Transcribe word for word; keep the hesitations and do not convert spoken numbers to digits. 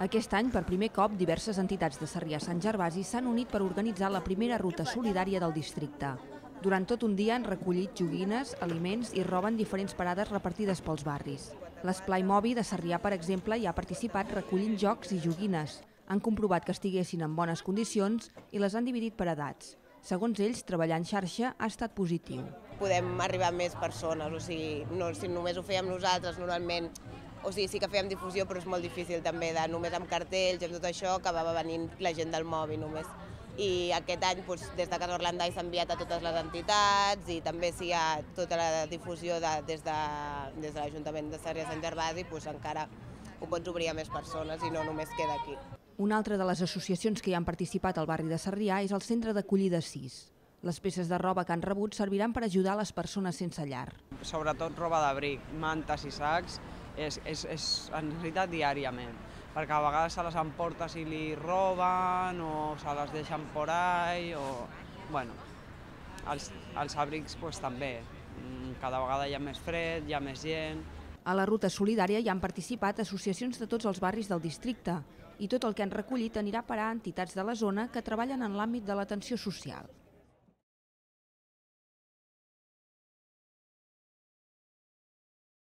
Aquest any, per primer cop, diverses entitats de Sarrià-Sant Gervasi s'han unit per organitzar la primera ruta solidària del districte. Durant tot un dia han recollit joguines, aliments i roba en diferents parades repartides pels barris. L'Esplai Mobi de Sarrià, per exemple, hi ha participat recollint jocs i joguines. Han comprovat que estiguessin en bones condicions i les han dividit per edats. Segons ells, treballar en xarxa ha estat positiu. Podem arribar a més persones, o sigui, no, si només ho fèiem nosaltres, normalment, o sigui, sí que fèiem difusió, però és molt difícil també, de només amb cartells i amb tot això, acabava venint la gent del mòbil només. I aquest any, doncs, des de Casa Orlandai s'ha enviat a totes les entitats i també si hi ha tota la difusió de, des de, des de l'Ajuntament de Sarrià-Sant Gervasi, doncs encara ho pots obrir a més persones i no només queda aquí. Una altra de les associacions que hi han participat al barri de Sarrià és el Centre d'Acollida sis. Les peces de roba que han rebut serviran per ajudar les persones sense llar. Sobretot roba d'abric, mantes i sacs, és, és, és en necessitat diàriament, perquè a vegades se les emporta si li roben o se les deixen por ahí, o... bueno, els, els abrics pues, també, cada vegada hi ha més fred, hi ha més gent. A la ruta solidària hi han participat associacions de tots els barris del districte i tot el que han recollit anirà a parar a entitats de la zona que treballen en l'àmbit de l'atenció social.